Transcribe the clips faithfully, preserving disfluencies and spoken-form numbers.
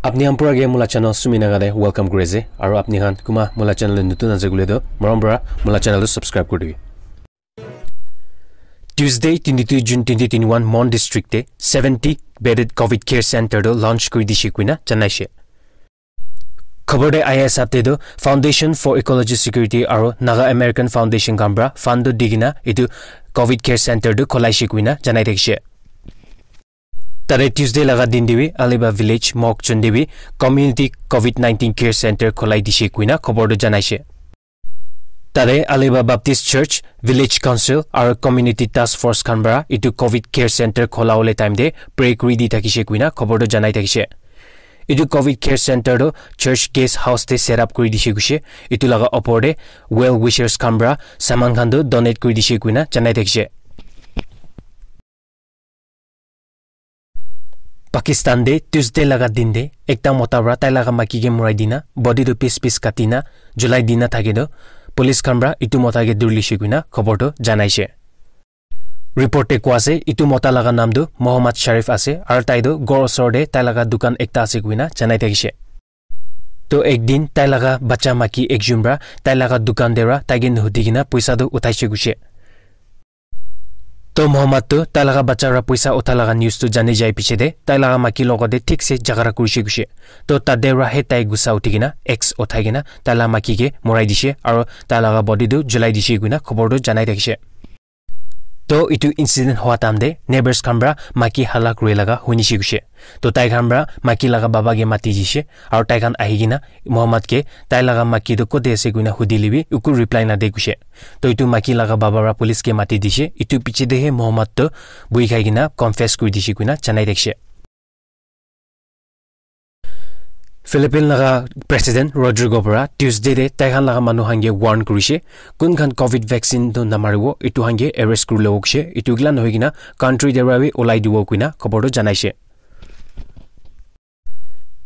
Apni khan pura ke mula channel Sumi Naga te welcome kuri ase, aru apni khan kuma mula channel te nutun ase koile toh morom para mula channel tu subscribe kuri dibi. Tuesday, twenty-two June twenty twenty-one, Mon District te seventy bedded covid care center tu launch kuri dishe koina janaishe. Khobor te aya hisab te toh Foundation for Ecology Security aru Naga American Foundation khan para fund tu di kena etu covid care center tu kholaishe koina janai thakishe. Tate Tuesday laga din te bi Aliba Village, Mokchung te bi Community covid nineteen Care Center kholai dishe koina khobor tu janaishe. Tate Aliba Baptist Church, Village Council aru Community Task Force khan para etu covid care center khola wole time te pray kuri di thakishe koina khobor tu janai thakishe. Etu covid care center tu church guest house te set up kuri dishe koishe. Etu laga opor te well wishers khan para saman khan tu donate kuri dishe koina janai thakishe. Pakistan te Tuesday laga din te ekta mota para tai laga maki ke murai dina, body tu piece piece kati na, julai dina thake toh, police khan para etu mota ke duri lishe koina khobor tu janaishe. Report te koa ase, etu mota laga naam tu Mohammad Sharif ase, aru tai tu ghor osor te tai laga dukan ekta ase koina janai thakishe. To ek din tai laga bacha maki ekjon para tai laga dukan te para tai ke nuhudi kena poisa tu uthaishe koishe. To Mohammad tu tai laga bacha para poisa utha laga news tu jani jai piche te tai laga maki logot te thik se jhagara kurishe koishe. To tate para he tai gussa uthi kena axe uthai kena tai laga maki ke morai dishe aru tai laga body tu julai dishe koina khobor tu janai thakishe. To etu incident hua time te neighbors khan para maki hala kuri laga hunishe koishe. To tai khan para maki laga baba ke mati dishe aru tai khan ahi kena Mohammad ke tai laga maki tu kote ase koina hudi le bi eku reply na de koishe. To etu maki laga baba para police ke mati dishe. Etu piche te he Mohammad tu buhi khai kena confess kuri dishe koina janai thakishe. Philippine laga President Rodrigo para Tuesday te tai khan laga manu khan ke warn kurishe, kun khan covid vaccine tu namaribo, etu khan ke arrest kuri lobo koishe, etu kila nohoi kena country te para bi ulai dibo koina khobor tu janaishe.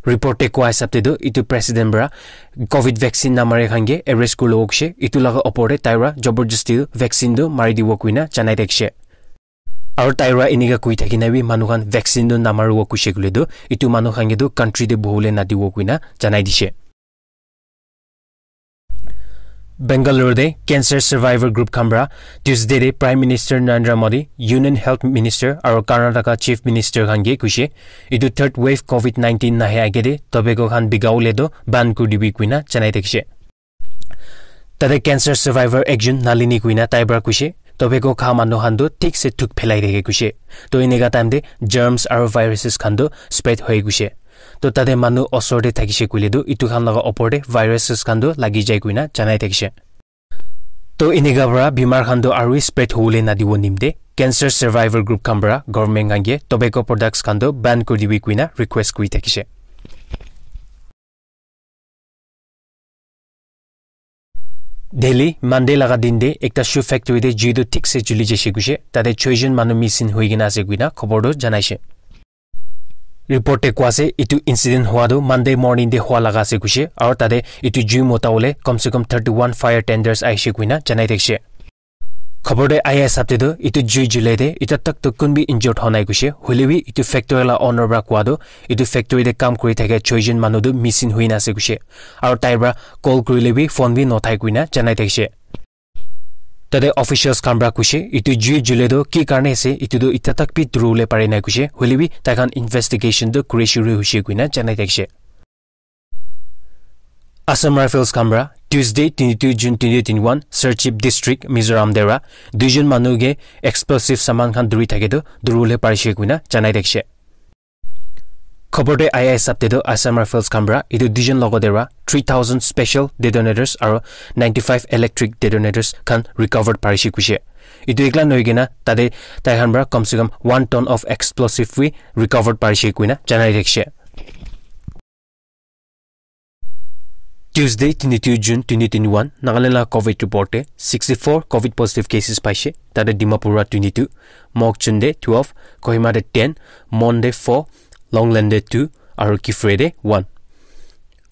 Report te koa hisab te tu etu president para covid vaccine namare khan ke arrest kuri lobo koishe, etu laga opor te tai para jabardasti vaccine tu mari dibo koina janai thakishe. Aru tai para enika koi thaki na bi manu khan vaccine tu namaribo koishe koile tu etu manu khan ke tu country te bohole nadibo koina janai dishe. Bangalore te cancer survivor group khan para Tuesday te Prime Minister Narendra Modi, Union Health Minister aru Karnataka Chief Minister khan ke koishe etu third wave covid nineteen nahe age te tobacco khan bika wole tu ban kuri dibi koina janai thakishe. Tate cancer survivor ekjon Nalini koina tai para koishe, tobacco kha manu khan tu thik se thuk phelai thake koishe. To enika time te germs aru viruses khan tu spread hoi koishe. To tate manu osor te thakishe koile tu etu khan laga opor te viruses khan tu lagi jai koina janai thakishe. To enika para bimar khan tu aru spread hobole nadibo nimte cancer survivor group khan para government khan ke tobacco products khan tu ban kuri dibi koina request kuri thakishe. Delhi, Monday laga din te ekta shoe factory te jui tu thik se juli jaise koishe, tate choi jon manu missing hoi kena ase koina khobor tu janaishe. Report te koa ase, etu incident hua tu Monday morning te hua laga ase koishe, aru tate etu jui mota bole kam se kam thirty one fire tenders aishe koina janai thakishe. Khobor te aya hisab te tu etu jui julai te eta tak tu kun bi injured hua nai koishe, hoile bi etu factory la owner para koa tu etu factory te kam kuri thaka choi jon manu tu missing hoi na ase koishe, aru tai para call kurile bi phone bi nuthai koina janai thakishe. Tate officials khan para koishe etu jui jule tu ki karne ase etu tu eta tak bi dhuribole pare nai koishe, hoile bi tai khan investigation tu kuri shuru hoishe koina janai thakishe. Assam Rifles khan para Tuesday twenty-two June twenty twenty-one Serchhip District Mizoram te para duijon manu ke explosive saman khan dhuri thake tu dhuribole parishe koina janai thakishe. Khobor te aya hisab te tu Assam Rifles khan para etu duijon logot te para three thousand special detonators aru ninety five electric detonators khan recovered parishe koishe. Etu ekla nohoi kena tate tai khan para kam se kam one ton of explosive bi recovered parishe koina janai thakishe. Tuesday twenty-two June twenty twenty-one, Nagaland la covid report te sixty-four covid positive cases paishe, tate Dimapur para twenty-two, Mokokchung te twelve, Kohima te ten, Mon te four, Longleng te two, aru Kiphire te one.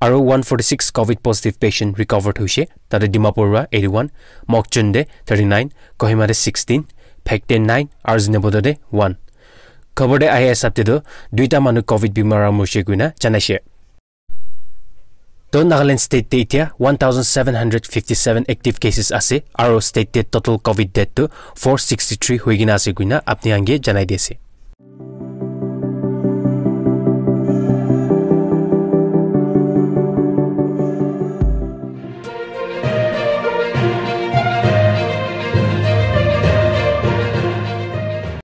Aru one forty-six covid positive patient recovered hoishe, tate Dimapur para eighty-one, Mokokchung te thirty-nine, Kohima te sixteen, Phek te nine, aru Zunheboto te one. Khobor te aya hisab te tu duita manu covid bimar para morishe koina janaishe. To Nagaland state te itia one thousand seven hundred fifty seven active cases ase, aro state te total covid death tu four sixty three hoikena ase koina apni khan ke janai di ase.